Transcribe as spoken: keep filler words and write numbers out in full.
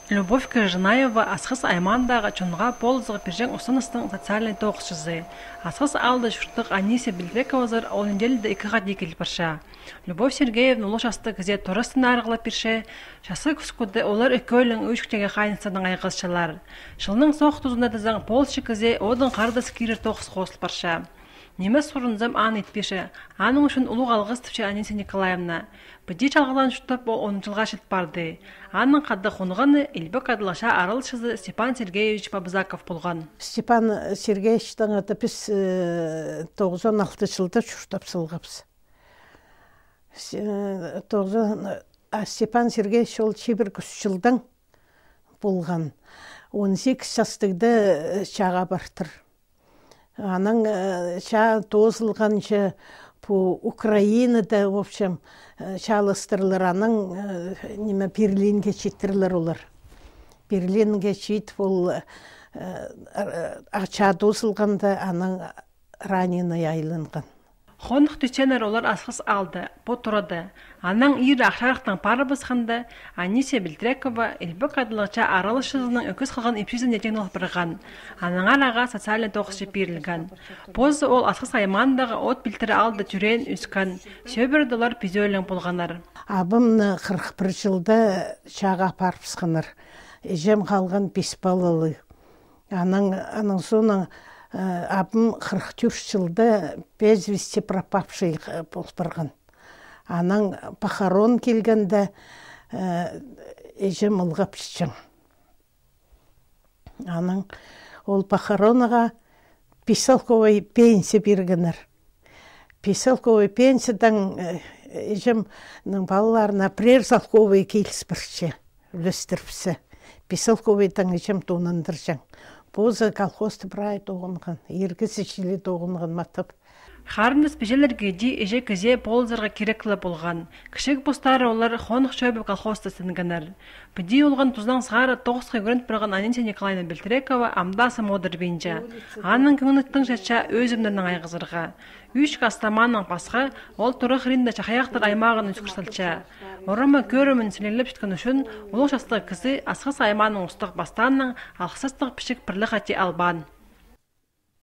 Любовь Кожанаева Асхыс аймаандағы чонға полызығ пирҷең устаныстың социальный тоғысчызы. Асхыс аалда чурттығ Анисия Бельтрековазар ол неделяда ікі хати киліп парча. Любовь Сергеевна улуғ частығ кізее торастығ арығлап пирче, частығ кӱскӱде олар ікӧлең ӱчӱктегі хайыныстарнаң айғасчалар. Чылның соох тузында тізең полысчы кізее одын харындас кирер тоғыс хозыл парча. Ниме сурынзам, аны итпинче, аның ӱчӱн улуғ алғыс тіпче Анисия Николаевна. Піди чалғылаан чуртап ол он чылға чит парды. Аның хада хонғаны Илбек Адалығ чаа араласчызы Степан Сергеевич Бабзаков полған. Степан Сергеевичтең ада піс, э, тоғызон алты чылда чуртап салғабыс. С-, э, тоғызон, а Степан Сергеевич ол чибіргі ӱс чылдаң полған. Он сигіс частығда, э, чааға партыр. Анаң, э, чаа тоозылғанҷа пу Украинада, в общем, э, чааластырлар, анаң, э, ниме, Берлинге читірлер олар. Берлинге читіп ол, э, э, а чаа тоозылғанда, анаң раненый айланған. Хонох тӱсчеңнер олар Асхыс аалда, пу турада. Анаң иирі Ах Чарыхтаң парыбысханда, Анисия Бельтрекова Илбек Адалығ чаа араласчызының ӧкіс халған ипчізіне тиңнел парған. Аннаңар ағаа социальный тоғысчы пирілген. Позы ол Асхыс аймаандағы От Пилтірі аалда тӧреен, ӧскен. Сӧбіреде олар пизӧөлең полғаннар. Абамны хырых пір чылда чааға апарыбысханнар. Іҷем халған пис палалығ. Анаң, анаң соонаң, э, абам хырых тӧрт чылда без вести пропавший, э, пол парған. Анаң похорон килгенде, э, іҷем ылғапчаң. Анаң ол похоронаға пис салковай пенсия пиргеннер. Пис салковай пенсиядаң, э, іҷемнің палаларына пірер салковай киліс парча, ӱлестіріпче. Пис салковайдаң іҷем тоонандырҷаң. Позы колхозты прай тоғынған, иргі січілі тоғынған матап. Харындас пиҷелерге дее іҷе кізее полызарға кирек ле полған. Кічіг постары олар хонох чӧбіп колхозта істенгеннер. Піди олған тузанаң сығара тоғысха ӱгреніп парған Анисия Николаевна Бельтрекова ам даа сым одырбинча. Аның кӧңні тың чатча ӧзімнернең айғазарға. Ӱс кастамааның пасха, ол тура хыринда чахайахтар аймағын ӧскір салча. Орама кӧрімін сіліглепчеткен ӱчӱн улуғ частығ кізі Асхыс аймааның устағ пастаанаң алғыстығ пічік пір ле хати албаан.